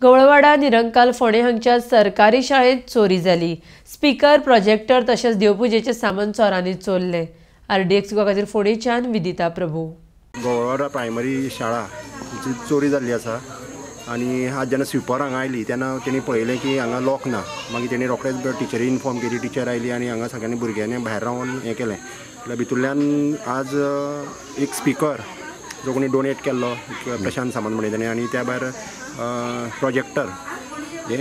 गवळवाडा निरंकाल फोंडें हांगच्या सरकारी शाळेंत चोरी जाली. स्पीकर, प्रोजेक्टर तशेंच देवपुजेचें सामान चोरांनी चोरलें. आरडीएक्स गोवा खातीर फोंडेंच्यान विदिता प्रभू. गवळवाडा प्रायमरी शाळा चोरी जाल्ली आसा आनी आज जेन्ना स्विपर हांगा आयली तेन्ना तेणी पळयलें की हांगा लॉक ना. मागीर तेणी रोखडेच टिचरी इन्फॉर्म केली. टिचर आयली आनी हांगा सगळ्यांनी भुरग्यांनी भायर रावन हें केलें. जाल्यार भितूरल्यान आज एक स्पिकर जो कोणी डोनेट केल्लो प्रशांत सामंत म्हणटा तेणी, आनी त्या भायर प्रोजेक्टर हे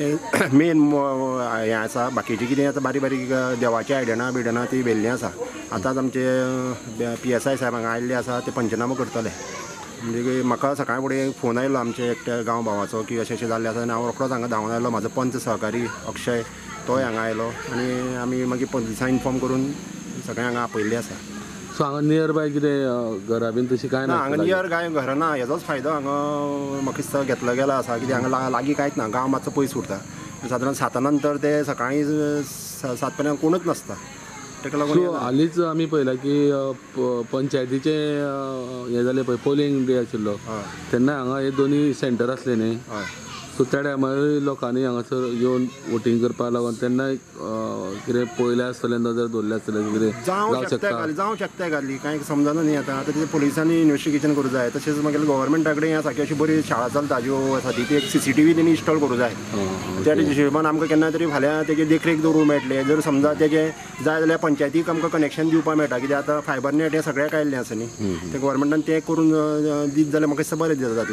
मेन हें आसा. बाकीचें कितें आतां बारीक बारीक देवाची आयदनां बियदनां ती व्हेल्लीं आसा. आतांच आमचे PSI साहेब हांगा आयिल्ले आसा, ते पंचनामो करतले. म्हणजे म्हाका सकाळी फुडें फोन आयलो आमचे एकट्या गांव भावाचो की अशें अशें जाल्लें आसा आनी हांव रोखडोच हांगा धांवन आयलो. म्हाजो पंच सहकारी अक्षय तोय हांगा आयलो आनी आमी मागीर पोलिसांक इन्फॉर्म करून सगळें हांगा आपयल्लें आसा. सो हांगा नियर बाय कितें घरां बीन तशी कांय ना? हांगा नियर कांय घरां ना. हेजोच फायदो हांगा म्हाका दिसता घेतलो गेला आसा. कित्याक हांगा लागीं कांयच ना, गांव मातसो पयस उरता. सादारण 7 नंतर ते सकाळीं 7 पर्यंत कोणूच नासता. ताका लागून हालींच आमी पळयलां की पंचायतीचें हें जालें पळय, पोलिंग डे आशिल्लो तेन्ना हांगा हे दोनी सेंटर आसले न्ही. सो त्या टायमार लोकांनी हांगासर येवन वोटींग करपाक लागून तेन्ना कितें पळयलें आसतलें, नजर दवरलें आसतलें, कितें जावं शकता, जावं शकता घाली कांय समजना न्ही. आतां आतां पोलिसांनी इन्वेस्टिगेशन करूं जाय. तशेंच मागीर गव्हर्मेंटा कडेन आसा की अशी बरी शाळा चलता ज्यो आसा ती एक CCTV तेणी इन्स्टॉल करूं जाय. त्या हिशोबान आमकां केन्ना तरी फाल्यां तेजे देखरेख दवरूंक मेळटलें. जर समजा तेजें जाय जाल्यार पंचायतीक आमकां कनेक्शन दिवपाक मेळटा. कित्याक आतां फायबर नेट हें सगळ्याक आयिल्लें आसा न्ही, तें गव्हर्मेंटान तें करून दीत जाल्यार म्हाका दिसता बरें जाता.